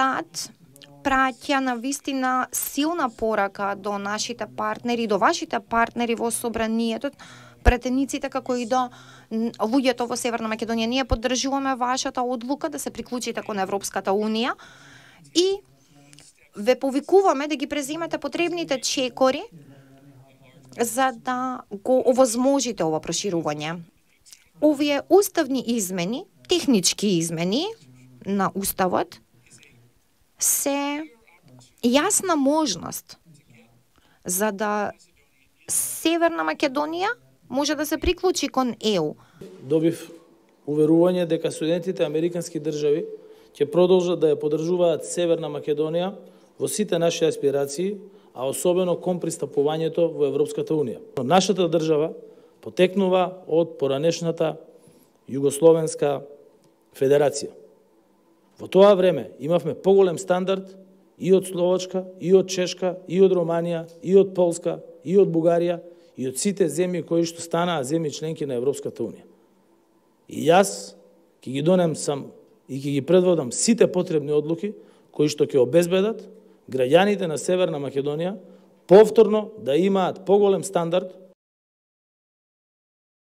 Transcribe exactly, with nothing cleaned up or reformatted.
САД праќа на вистина силна порака до нашите партнери, до вашите партнери во собранието, претениците како и до луѓето во Северна Македонија. Ние поддржуваме вашата одлука да се приклучите кон Европската унија и ве повикуваме да ги преземете потребните чекори за да го овозможите ова проширување. Овие уставни измени, технички измени на уставот се јасна можност за да Северна Македонија може да се приклучи кон ЕУ. Добив уверување дека студентите американски држави ќе продолжат да ја поддржуваат Северна Македонија во сите наши аспирации, а особено кон пристапувањето во Европската унија. Нашата држава потекнува од поранешната Југословенска федерација. Во тоа време имавме поголем стандард и од Словачка, и од Чешка, и од Романија, и од Полска, и од Бугарија, и од сите земји кои што станаа земји членки на Европската унија. И јас ќе ги донем сам и ќе ги предводам сите потребни одлуки кои што ќе обезбедат граѓаните на Северна Македонија повторно да имаат поголем стандард